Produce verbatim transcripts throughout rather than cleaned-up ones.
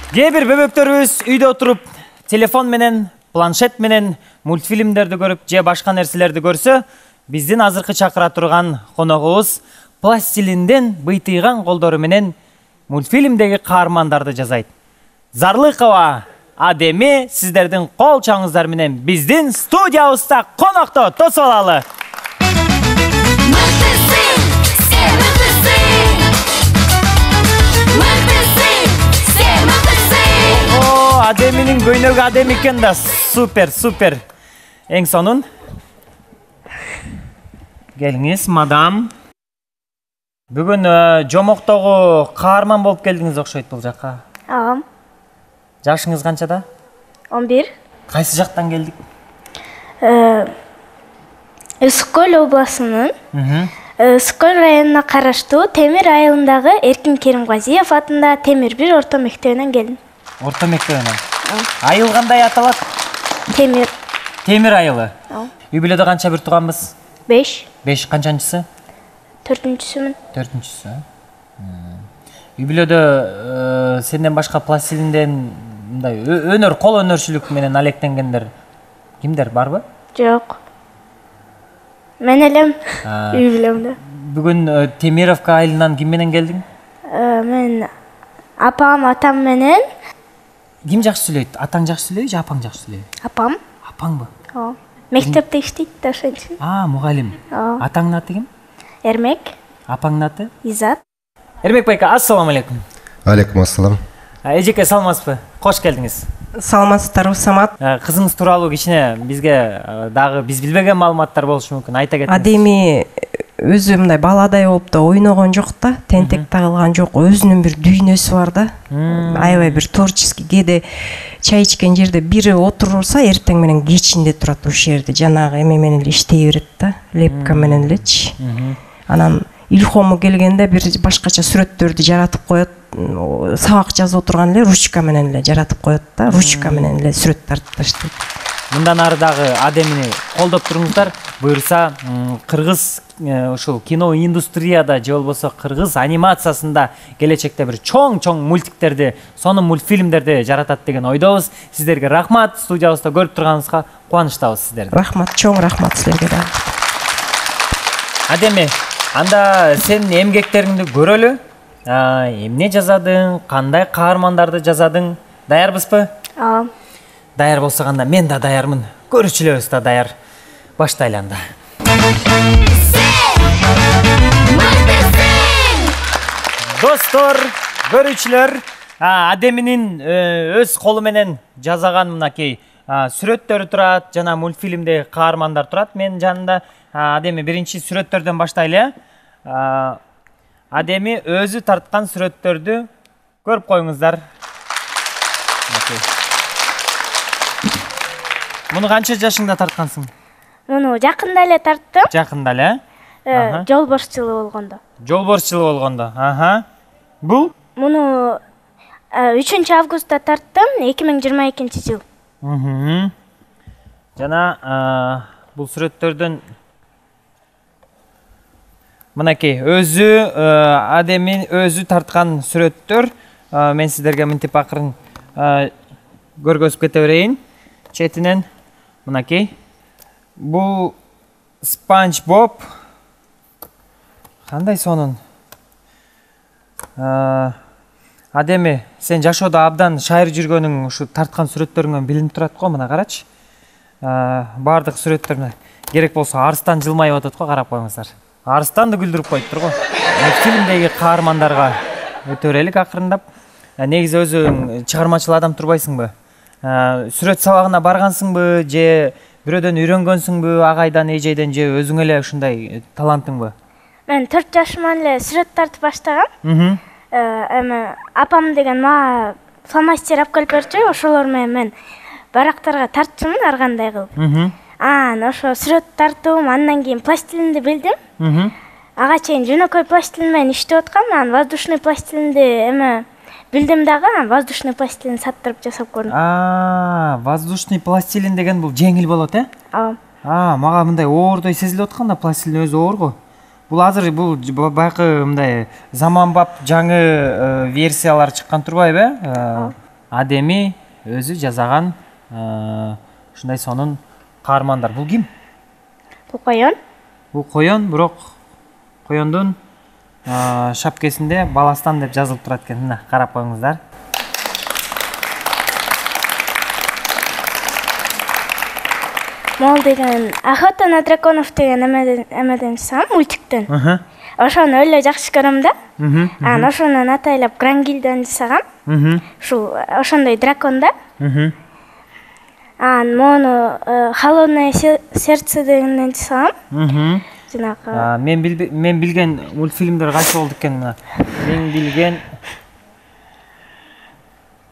Кээ бир бөбөктөрүбүз үйдө отуруп телефон менен, планшет менен мультфильмдерди көрүп, же башка нерселерди көрсө, биздин азыркы чакыра турган коногубуз пластилинден быйтыйган колдору менен мультфильмдеги каармандарды жасайт. Зарлыкова Адеми сиздердин кол чаңыңыздар менен биздин студиябызда конокто. Тосуп алалы. О, Адеминин көйнөгү Адем экен да. Супер, супер. Эң сонун. Келиңиз, мадам. Бүгүн жомоктогу каарман болуп келдиңиз окшойт бул жакка. Ага. Жашыңыз канчада? он бир. Кайсы жактан келдик? Үсүк көл областынын Үсүк көл районуна караштуу Темир айылындагы Эркин Керимгазиев атындагы Темир бир орто мектебинен келдим. Орто мектебинен. Айыл кандай аталат? Темир. Темир айылы. Үй бүлөдө канча бир тууганбыз? беш. беш канчанчысы? төртүнчүсүмүн. төртүнчүсү. Үй бүлөдө сенден башка пластилинден мындай өнөр, кол өнөрчүлүк менен алектенгендер кимдер барбы? Жок. Мен элем үй бүлөмдө. Бүгүн Темировка айылынан ким менен келдиң? Мен апам, атам менен. Ким жакшы сүйлөйт? Атаң жакшы сүйлөйбү же апаң жакшы сүйлөйбү? Апам. Апаңбы? Ооба. Мектепте иштейт да ошентип. А, мугалим. Атаңдын аты ким? Эрмек. Апаңдын аты? Изат. Эрмек байка, ассаламу алейкум. Алейкум ассалам. Эжеке, саламатсызбы? Кош келдиңиз. Саламатсыздарбы, Самат? Кызыңыз тууралуу кичине бизге дагы биз билбеген маалыматтар болушу мүмкүн. Айта кетиңиз. Адеми өзү мындай баладай болуп да ойногон жок да, тентек тагылган жок, өзүнүн бир дүйнөсү бар да. Аябай бир творческий. Кээде чай ичкен жерде бири отурса, эртең менен кечинде турат ошол жерде, жанагы эме менен эле иштей берет да, лепка менен элечи. Анан илхому келгенде бир башкача сүрөттөрдү жаратып коет, сабак жазып отурган эле ручка менен эле жаратып коет да, ручка менен эле сүрөт тартып таштайт. Мындан ары дагы Адемини колдоп туруңуздар. Буюрса, кыргыз ушул кино индустрияда же болбосо кыргыз анимациясында келечекте бир чоң-чоң мультиктерди, сонун мультфильмдерди жаратат деген ойдобуз. Сиздерге рахмат. Студиябызда көрүп турганыңызга кубанычтабыз сиздерди. Рахмат, чоң рахмат силерге дагы. Адеми, анда сен эмгектериңди көрөлү. Эмне жазадың, кандай каармандарды жазадың? Даярбызбы? Ооба. Даяр болсо анда мен да даярмын. Көрүүчүлөрүбүз да даяр. Баштайлы анда. Достор, көрүүчүлөр, Адеминин өз колу менен жазаган мынакей сүрөттөрү турат, жана мультфильмде каармандар турат. Мен жанында Адеми биринчи сүрөттөрдөн баштайлы. Адеми өзү тарткан сүрөттөрдү көрүп коюңуздар. Муну канча жашыңда тарткансың? Муну жакында эле тарттым. Жакында эле? Жолборс жылы болгондо. Жолборс жылы болгондо. Аха. Бул? Муну үчүнчү августта тарттым, эки миң жыйырма экинчи жыл. Жана бул сүрөттөрдөн мынакей өзү Адеми өзү тарткан сүрөттөр. Мен сиздерге мынтип акырын көргөзүп кете берейин. Четинен мынакей. Бул Спанч Боб. Кандай сонун. Адеми, сен жашоодо абдан шайыр жүргөнүң ушу тарткан сүрөттөрүңөн билинип турат го, мына карачы. Бардык сүрөттөрүнө керек болсо арстан жылмайып атат го, карап коюңуздар. Арстанды күлдүрүп коюптур го. Фильмдеги каармандарга өтө берелик акырындап. Негизи өзүң чыгармачыл адам турбайсыңбы? Сүрөт сабагына баргансыңбы же бирөөдөн үйрөнгөнсүңбү, агайдан, эжейден же өзүң эле ушундай талантыңбы? Мен төрт жашыман эле сүрөт тартып баштагам. Эми апам деген мага фломастер алып келип берчү, ошолор менен мен барактарга тартчумун ар кандай кылып. Анан ошо сүрөт тартып, андан кийин пластилинди билдим. Ага чейин жөнөкөй пластилин менен иштеп аткам, анан воздушный пластилинди эме билдим дагы, воздушный пластилин саттырып жасап көрдүм. А, воздушный пластилин деген бул жеңил болот, э? Ооба. А, мага мындай оордой сезилип атканда, пластилин өзү оор го. Бул азыр бул баягы мындай заманбап жаңы версиялар чыккан турбайбы, э? Адеми өзү жазаган ушундай сонун каармандар. Бул ким? Бул коён. Бул коён, бирок коёндун шапкесинде Баластан деп жазылып турат экен. Мына карап коюңуздар. Мол деген Охота на драконов деген эмеден чыккан мультиктен. Ошону эле жакшы көрөм да. Анан ошонун атайлап Грангильден жасагам. Ушул ошондой дракон да. Анан мону Холодное сердце дегенден жасагам. Жанагы мен мен билген мультфильмдер кайсы болду экен мына. Мен билген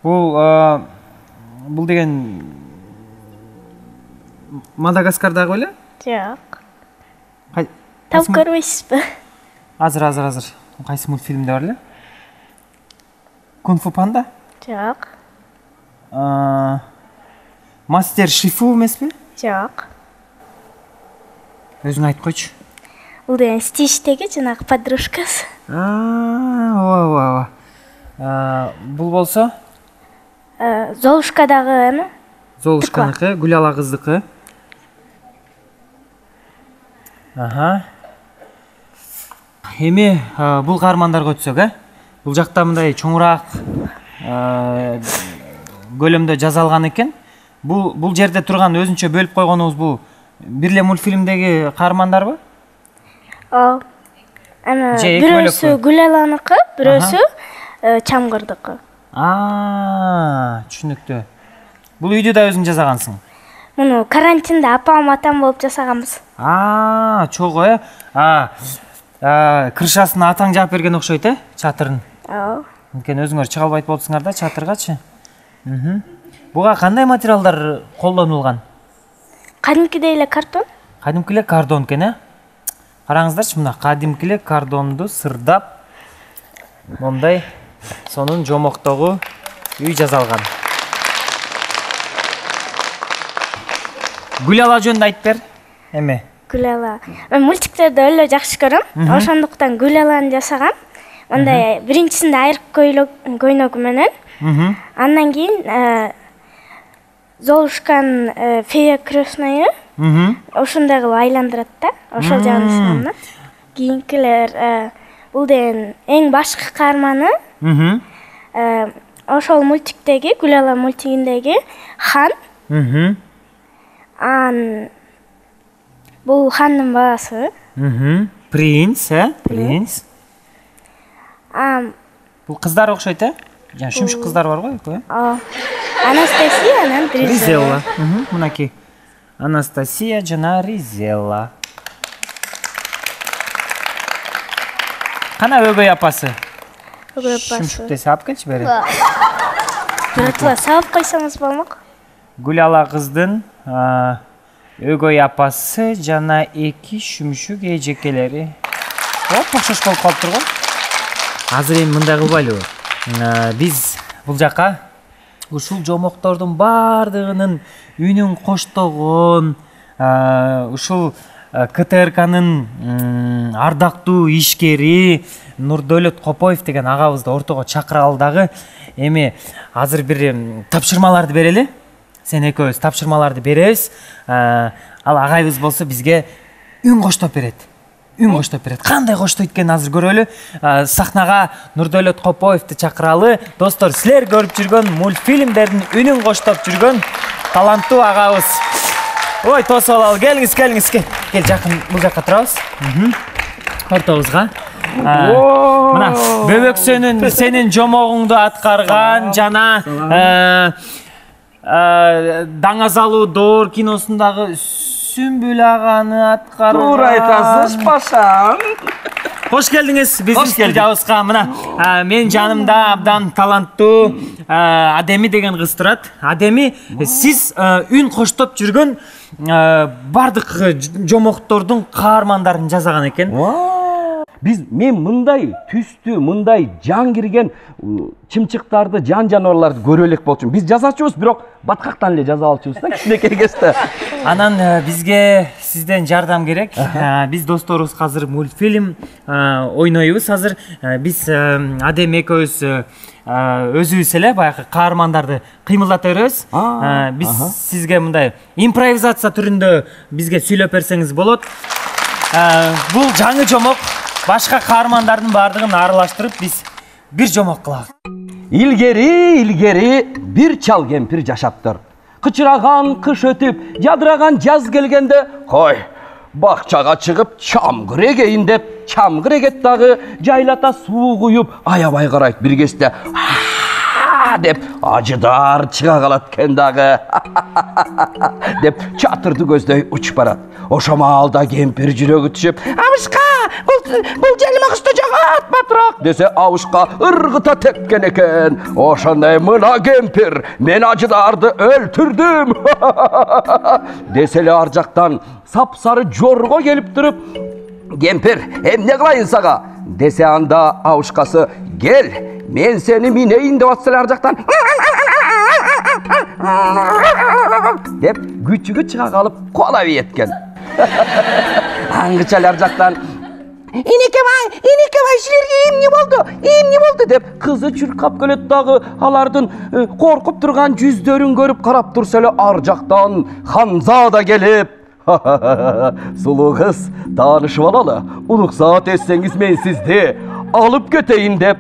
бул бул деген Мадагаскардагы беле? Жок. Таап көрбөйсүзбү? Азыр, азыр, азыр. Кайсы мультфильмде бар эле? Кунг-фу панда? Жок. Мастер Шифу эмеспи? Жок. Өзүң айтып койчу. Бул деген Стичтеги жанагы подружкасы. ооба, ооба. Бул болсо? Золушкадагы эме? Золушканыкы, Гүлала кыздыкы. Аха. Эми бул каармандарга өтсөк, э? Бул жакта мындай чоңураак көлөмдө жазалган экен. Бул бул жерде турган өзүнчө бөлүп койгонубуз бул бир эле мультфильмдеги каармандарбы? Ооба. Эме бирөөсү Гүлаланыкы, бирөөсү Чамгырдыкы. Аа, түшүнүктүү. Бул үйдү да өзүң жасагансың? Муну карантинде апам атам болуп жасаганбыз. Аа, чогуу, э? А, крышасын атаң жаап берген окшойт, э? Чатырын. Ооба. Анткени өзүңөр чыга албайт болупсуңар да чатыргачы. Буга кандай материалдар колдонулган? Кадимкидей эле картон. Кадимки эле кардон экен, э? Караңыздарчы, мына кадимки эле кардонду сырдап мондай сонун жомоктогу үй жасалган. Гүлала жөнүндө айтып бер. Эме? Гүлала. Мен мультиктерди эле жакшы көрөм. Ошондуктан Гүлаланы жасагам. Мындай биринчисинде айрык көйнөгү менен. Андан кийин Золушканын фея крестная. Ошондой кылып айландырат да. Ошол жагын жасагам да. Кийинкилер бул деген эң башкы каарманы. Ошол мультиктеги, Гүлала мультигиндеги хан. Ан бул хандын баласы. Принц, э? Принц. А бул кыздар окшойт, э? Жана шүмшүк кыздар бар го, экөө, э? Ооба. Анастасия, анан Ризелла. Мынакей. Анастасия жана Ризелла. Кана өгөй апасы? Өгөй апасы. Шүмшүктү сап келчи бери. Биротла сап койсоңуз болмок. Гүлала кыздын өгөй апасы жана эки шүмшүк эжекелери. Оп, окшош болуп калыптыр го. Азыр эми мындай кылбайлыбы? Биз бул жака ушул жомоктордун баардыгынын үнүн коштогон, ушул КТРКнын ардактуу ишкери Нурдөлөт Копоев деген агабызды ортого чакыралы дагы. Эми азыр бир тапшырмаларды берели. Сен экөөбүз тапшырмаларды беребиз. Ал агайыбыз болсо бизге үн коштоп берет. Үн коштоп берет. Кандай коштойт экенин азыр көрөлү. Сахнага Нурдөлөт Копоевди чакыралы. Достор, силер көрүп жүргөн мультфильмдердин үнүн коштоп жүргөн таланттуу агабыз. Ой, тосуп алалы. Келиңиз, келиңиз. Кел, жакын бул жакка турабыз. Ортобузга. Мына Бөбөксөнүн сенин жомогуңду аткарган жана Даңазалуу Доор киносундагы Сүмбүл аганы аткарган. Туура айтасыз, пашам. Кош келдиңиз биздин студиябызга. Мына менин жанымда абдан таланттуу Адеми деген кыз турат. Адеми, сиз үн коштоп жүргөн бардык жомоктордун каармандарын жасаган экен. Биз мен мындай түстүү, мындай жан кирген чымчыктарды, жан жаныбарларды көрө элек болчумун. Биз жазачубуз, бирок баткактан эле жаза алчубуз да, кичинекей кезде. Анан бизге сизден жардам керек. Биз досторубуз азыр мультфильм ойнойбуз. Азыр биз Адем экөөбүз өзүбүз эле баягы каармандарды кыймылдата беребиз. Биз сизге мындай импровизация түрүндө бизге сүйлөп берсеңиз болот. Бул жаңы жомок. Башка каармандардын баардыгын аралаштырып биз бир жомок кылабыз. Илгери, илгери бир чал кемпир жашаптыр. Кычыраган кыш өтүп, жадыраган жаз келгенде, кой, бакчага чыгып чамгыр эгейин деп, чамгыр эгет дагы жайлата суу куюп, аябай карайт. Бир кезде деп ажыдар чыга калат экен дагы. Деп чатырды көздөй учуп барат. Ошо маалда кемпир жүрөгү түшүп, "Абышка, бул жалма кышты жагат батыраак" десе, абышка ыргыта тепкен экен. Ошондой мына кемпир, мен ажыдарды өлтүрдүм десе эле ар жактан сапсары жорго келип туруп, "Кемпир, эмне кылайын сага?" десе, анда абышкасы, "Кел, мен сени минейин" деп атса эле ар жактан деп күчүгү чыга калып куалап ийеткен. Аңгыча эле ар жактан "Инекебай, Инекебай, силерге эмне болду? Эмне болду?" деп кызы чуркап келет дагы, алардын коркуп турган жүздөрүн көрүп карап турса эле ар жактан Ханзада келип, "Сулуу кыз, таанышып алалы. Уруксаат этсеңиз мен сизди алып кетейин" деп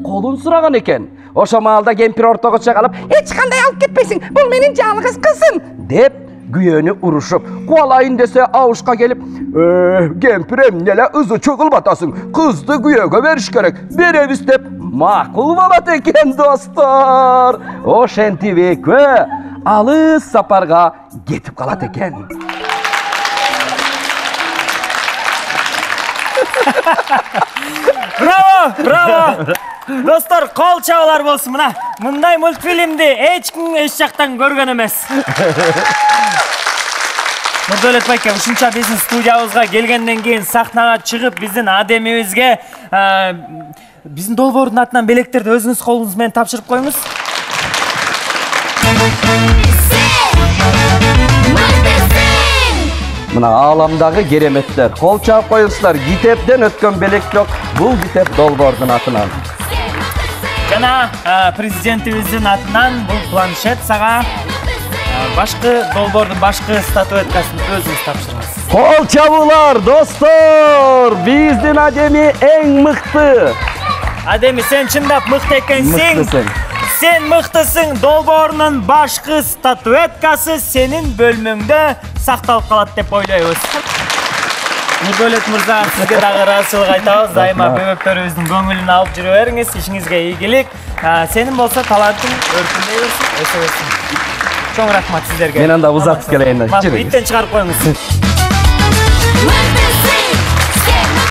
колун сураган экен. Ошо маалда кемпир ортого чыга калып, "Эч кандай алып кетпейсиң, бул менин жалгыз кызым" деп күйөнү урушуп, куалайын десе, абышка келип, "Э, кемпир, эмне эле ызы чогулбатасың? Кызды күйөөгө бериш керек. Беребиз" деп макул болот экен, достор. Ошентип экөө алыс сапарга кетип калат экен. Браво, браво! Достор, кол чабуулар болсун. Мына мындай мультфильмди эч ким эч жактан көргөн эмес. Нурдолет байке, ушунча биздин студиябызга келгенден кийин сахнага чыгып, биздин Адемибизге биздин долбоордун атынан белектерди өзүңүз колуңуз менен тапшырып коюңуз. Мына ааламдагы кереметтер. Кол чаап коюңуздар. Китептен өткөн белек жок. Бул китеп долбоордун атынан. Жана президентибиздин атынан бул планшет сага башкы долбоордун башкы статуэткасын өзүңүз тапшырыңыз. Кол чабуулар, достор! Биздин Адеми эң мыкты. Адеми, сен чындап мыкты экенсиң. Мыктысың. Сен мыктысың. Долбоорунун башкы статуэткасы сенин бөлмөңдө сакталып калат деп ойлойбуз. Нурдолет мырза, сизге дагы ыраазычылык айтабыз. Дайыма бөбөктөрүбүздүн көңүлүн алып жүрө бериңиз. Ишиңизге ийгилик. Сенин болсо талантың өркүндөй берсин, өсө берсин. Чоң рахмат сиздерге. Мен анда узатып келейин. Иттен чыгарып коюңуз.